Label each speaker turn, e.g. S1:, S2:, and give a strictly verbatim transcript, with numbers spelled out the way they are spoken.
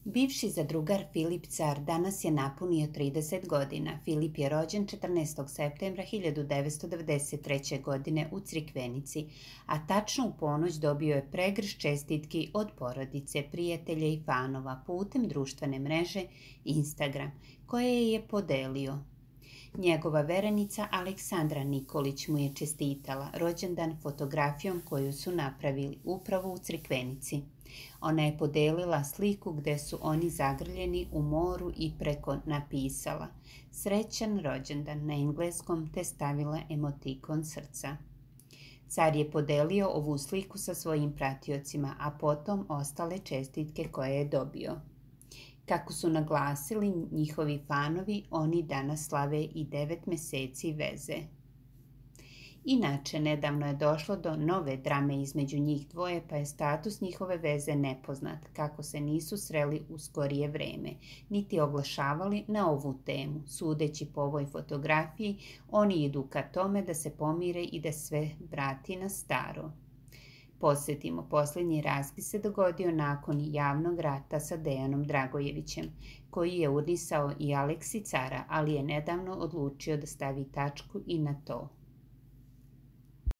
S1: Bivši zadrugar Filip Car danas je napunio trideset godina. Filip je rođen četrnaestog septembra hiljadu devetsto devedeset treće. godine u Crikvenici, a tačno u ponoć dobio je pregršt čestitki od porodice, prijatelja i fanova putem društvene mreže Instagram, koje je podelio. Njegova verenica Aleksandra Nikolić mu je čestitala rođendan fotografijom koju su napravili upravo u Crikvenici. Ona je podelila sliku gde su oni zagrljeni u moru i preko napisala "Srećan rođendan" na engleskom te stavila emotikon srca. Car je podelio ovu sliku sa svojim pratiocima, a potom ostale čestitke koje je dobio. Kako su naglasili njihovi fanovi, oni danas slave i devet meseci veze. Inače, nedavno je došlo do nove drame između njih dvoje, pa je status njihove veze nepoznat, kako se nisu sreli u skorije vreme, niti oglašavali na ovu temu. Sudeći po ovoj fotografiji, oni idu ka tome da se pomire i da sve vrati na staro. Podsjetimo, posljednji raskid se dogodio nakon javnog rata sa Dejanom Dragojevićem, koji je unisao i Aleksi Cara, ali je nedavno odlučio da stavi tačku i na to.